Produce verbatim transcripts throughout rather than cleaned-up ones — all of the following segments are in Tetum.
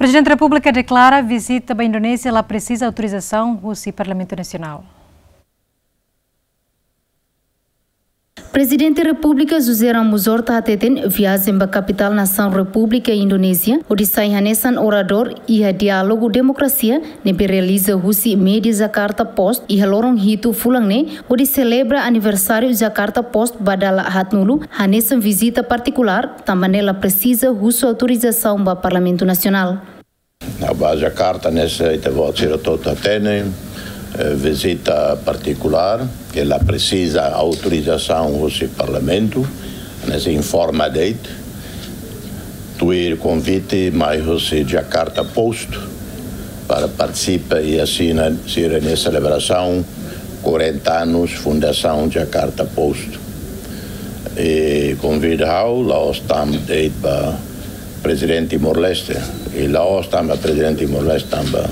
Prezidente Repúblika deklara vizita ba Indonézia la presiza autorizasaun husi Parlamentu Nasionál. Prezidente Repúblika José Ramos Horta hateten viajen ba kapitál nasaun Repúblika Indonézia, hodi sai hanesan oradór iha diálogu demokrasia, ne'ebé realiza husi média Jakarta Post iha loron hitu fulan ne'e, hodi selebra aniversáriu Jakarta Post ba dala haatnulu, hanesan vizita partikulár, tanba ne'e la presiza husu autorizasaun ba Parlamentu Nasionál. Ba Jakarta ne'e, ita-boot sira hotu hatene, eh, vizita partikulár, ke la presiza autorizasaun husi Parlamentu, ne'e informa de'it, tuir konvite mai husi Jakarta Post, para partisipa i asina sira-nia selebrasaun quarenta anos Fundasaun Jakarta Post. I konvida ha'u, la'ós tanba de'it ba Prezidente Timor-Leste, i la'ós tanba Prezidente Timor-Leste, tanba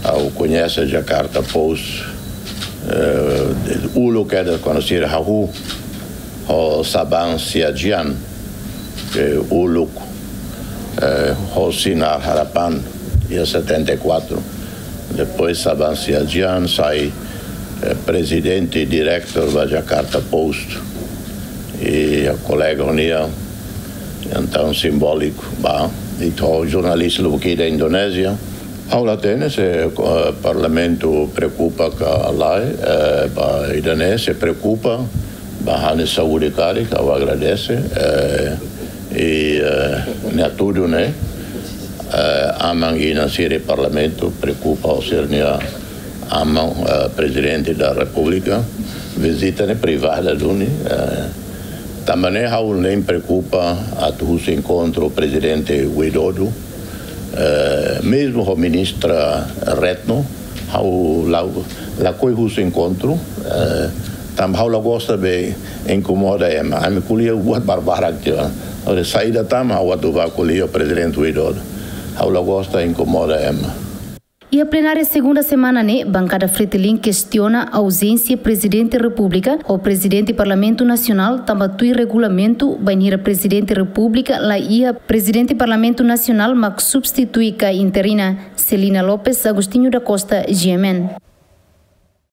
ha'u koñese Jakarta Post, eh, uluk kedas kuandu sira hahú ho Sabang Siagian, ke uluk, eh, ho Sinar Harapan, iha setenta e quatro. Depois Sabang Siagian sai, eh, prezidente diretór ba Jakarta Post. I kolega ha'u-nian, entaun simbóliku, ba, i ho jornalista lubuk ida Indonézia. Ha'u la hatene se, eh, Parlamentu preokupa ka lae, eh, ba ida-ne'e, se preokupa, ba ha'u-nia saúde karik, ha'u agradese, eh, i, eh, ne'e hatudu ne'e, eh, aman-inan sira Parlamentu preokupa ho sira-nia aman, eh, Prezidente da Repúblika, vizita ne'e privada duni, eh, tanba ne'e ha'u la preokupa atu husu enkontru Prezidente Widodo, eh, mezmu ho Ministra Retno, ha'u la, lakohi husu enkontru, eh, tanba ha'u la gosta be inkomoda ema. Ami ko'alia buat barbarak tiha. Ora saida tan ha'u atu bá ko'alia Prezidente Widodo. Ha'u la gosta inkomoda ema. Iha plenária segunda semana ne'e, bankada Fretilin kestiona auzénsia Prezidente Repúblika ho Prezidente Parlamentu Nasionál tanba tuir regulamentu, bainhira Prezidente Repúblika la iha, Prezidente Parlamentu Nasionál mak substitui ka interina. Celina Lopes, Agostinho da Costa, G M N.